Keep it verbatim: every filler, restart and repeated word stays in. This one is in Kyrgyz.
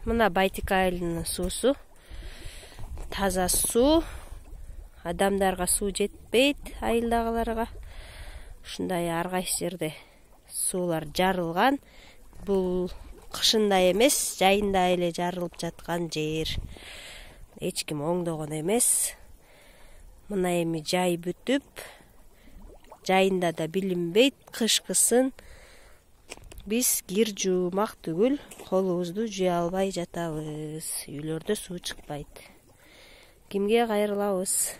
Мына Байтик айылынын суусу таза суу. Адамдарга суу жетпейт, айылдагыларга. Ушундай ар кайсы жерде суулар жарылган. Бул кышында эмес, жайында эле жарылып жаткан жер. Эч ким оңдогон эмес. Мына эми жай бүтүп, жайында да билинбейт, кышкысын биз кир жуумак түгүл, колубузду жуя албай жатабыз. Үйлөрдө суу чыкпайт. Кимге кайрылабыз?